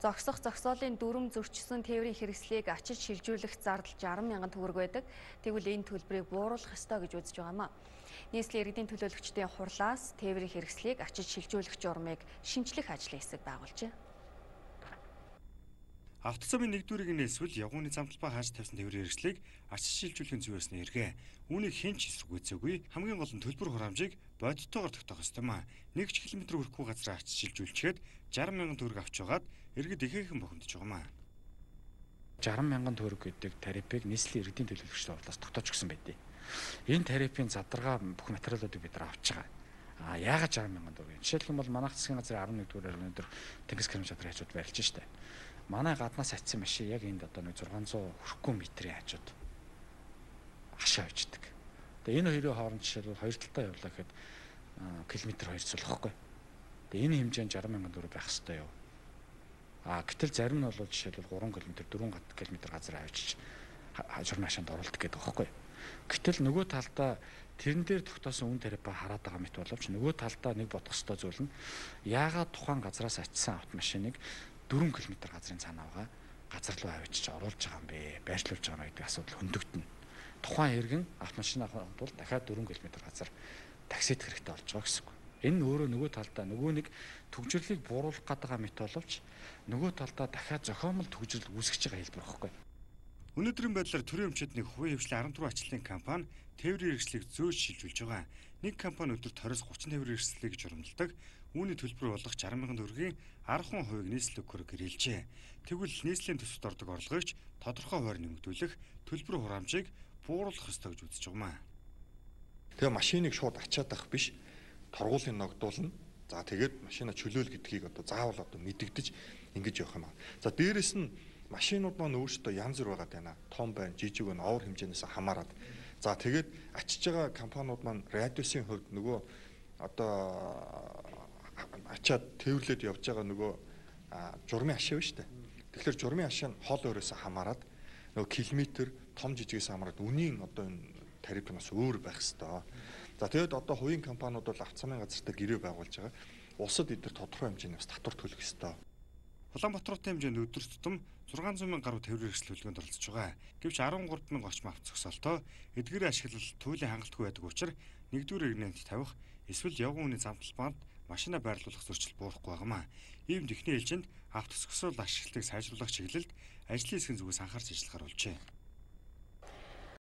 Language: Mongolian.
Зогсох зогсоолын дүрм зөрчсөн тээврийн хэрэгслийг ачиж шилжүүлэх зардал 60 мянган төгрөг байдаг. Тэгвэл энэ төлбөрийг бууруулах ёстой гэж үзэж байгаамаа. Нийслэлийн иргэдийн төлөөлөгчдийн хурлаас тээврийн хэрэгслийг ачиж шилжүүлэх журмыг шинжлэх ажлын хэсэг байгуулжээ. Автоцомын нэгдүрийг нээсвэл явгууны замталбай хааж тавьсан тээврийн хэрэгслийг ачиж шилжүүлэхийн зүйсний эргээ. Үүнийг хэн ч эсэргүүцээгүй. Хамгийн гол нь төлбөр хураамжийг бодиттойгоор тогтоох ёстой маа. 1 км хүрэхгүй газраа ачиж шилжүүлчихэд 60 мянган төгрөг авч байгаад иргэд ихээхэн бохимдож байгаа маа. 60 мянган төгрөг гэдэг тарифыг нийслэлийн иргэдийн төлөөлөгчдийн хурлаас тогтоож өгсөн байдیں۔ Энэ тарифын задаргаа бүх материалуудыг бид нар авч байгаа. Яагаад 60 мянган төгрөг? Жишээлбэл бол манайх засгийн газрын 11-р өнөөдөр тэнгис гэрэмж чадрын хажууд барилж штэ. Манай гаднаас атсан машин яг энд одоо 600 хүрэхгүй метрийн хажууд хашаа авчдаг. Тэгээ энэ хоёрын хооронд жишээлбэл хоёр талдаа явуулаа гэхэд километр 2 цолохгүй. Тэгээ энэ хэмжээнд 60 мянган төгрөг байх хэрэгтэй юу? Гэтэл зарим нь бол жишээлбэл 3 км 4 км газар авчиж журмын хашаанд оруулдаг гэдэг байхгүй. Гэтэл нөгөө талдаа тэрэн дээр тогтоосон үн тариа хараад байгаа мэт боловч нөгөө талдаа нэг бодох ёстой зүйл нь яагаад тухайн газраас ачсан автомашиныг 4 км газрын цаанаагаа газар руу авчиж оруулж байгаа юм бэ? Байршлуулж байгаа юм гэдэг асуудал хөндөгдөнө. Тухайн иргэн автомашин авахын тулд дахиад 4 км газар таксид хэрэгтэй болж байгаа гэсэн үг. Энэ өөрөө нөгөө талдаа нөгөө нэг төгжрлийг бууруулах гэдэг мэт боловч нөгөө талдаа дахиад зохиомл төгжрөл үүсгэж байгаа хэлбэр байхгүй. Өнөөдрийн байдлаар төрийн өмчөдний хувийн хвшлийн 14 ачлалын компани тээврийн хэрэгслийг зөөж шилжүүлж байгаа. Нэг компани өдөрт 20-30 тээврийн хэрэгслийг журамладаг. Үүний төлбөр болох 60 мянган төгрөгийн 10% нийслэл өгөхөөр гэрэлжээ. Тэгвэл нийслэлийн төсөвт ордог орлогыг тодорхой хуваар нэмэгдүүлэх төлбөр хураамжийг бууруулах ёстой гэж үзэж байгаа маа. Тэгээ машиныг шууд ачаад авах биш, торгуулийн ногдуулна. За тэгээд машина чөлөөл гэдгийг одоо заавал одоо мэдэгдэж ингэж явах юм аа. За дээрэс нь машинууд маань өөрсдөө янз бүр байгаад байна. Том байна, жижиг байна, овор хэмжээнээс хамаарат. За тэгээд ачиж байгаа компаниуд маань радиусын хувьд нөгөө одоо ачаад тээвэрлээд явж байгаа нөгөө журмын хашаа байна шүү дээ. Тэгэхээр журмын хашаа нь хол өөрөөсөө хамаарат нөгөө километр том жижигээс хамаарат үнийн одоо энэ тариф нь бас өөр байх хэвээр. За тэгээд одоо хувийн компаниуд бол автоцомын газартаа гэрээ байгуулж байгаа. Улсад эдгээр тодорхой хэмжээний бас татвар төлөх ёстой. Улаанбаатарын хэмжээнд өдөр тутам 600 мянга гаруй тээврийн хэрэгсэл хөдөлгөөнд оролцож байгаа. Гэвч 13 мянга орчим авто зогсоолтоо эдгээрийн ашиглал туйлын хангалтгүй байдаг учраас нэгдүгээр иргэнэнд тавих эсвэл явган үний замталбанд машина байрлуулах зөрчил буурахгүй байгаамаа. Ийм техникийн ээлжинд авто зогсоол ашиглалтыг сайжруулах чиглэлд ажлын хэсгийн зүгээс анхаарч ажиллахаар болжээ.